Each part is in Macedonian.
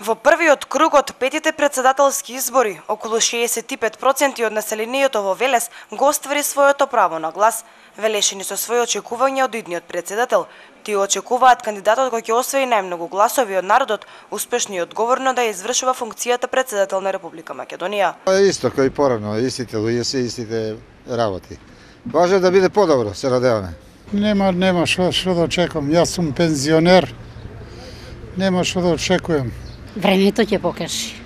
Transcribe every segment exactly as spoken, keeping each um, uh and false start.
Во првиот круг од петите председателски избори, околу шеесет и пет проценти од населението во Велес го оствари своето право на глас. Велешани со своји очекувања од идниот председател. Тие очекуваат кандидатот кој ќе освои најмногу гласови од народот, успешно и одговорно да ја извршува функцијата председател на Република Македонија. Исто кој порано, истите луѓе се, истите работи. Може да биде подобро, се надеваме. Нема, нема што што да очекувам. Јас сум пензионер. Нема што да очекувам. Времето ќе покажи.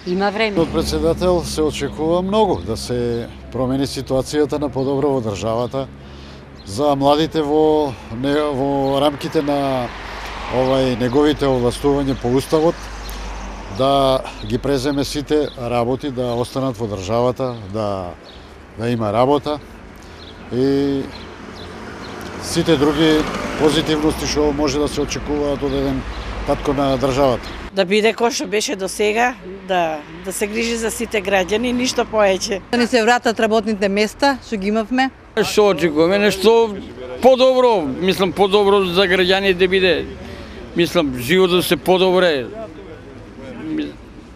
Има време. Од председател се очекува многу да се промени ситуацијата на подобро во државата за младите во не, во рамките на овај неговите овластувања по уставот, да ги преземе сите работи, да останат во државата, да да има работа и сите други позитивности што може да се очекуваат од еден татко на државата. Да биде кој што беше до сега, да да се грижи за сите граѓани, ништо повеќе. Да ни се вратат работните места што ги имавме. Што очекуваме, нешто подобро, мислам подобро за граѓаните да биде. Мислам животот да се подобре.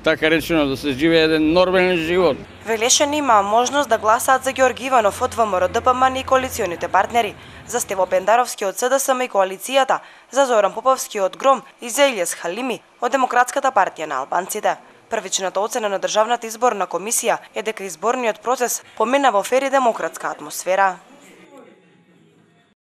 Така речено да се живее еден нормален живот. Велешани има можност да гласаат за Ѓорги Иванов од ВМРО Д П М Н и коалиционите партнери, за Стево Пендаровски од С Д С М и коалицијата, за Зоран Поповски од Гром и за Илијас Халими од Демократската партија на албанците. Првичната оцена на Државната изборна комисија е дека изборниот процес помина во фер и демократска атмосфера.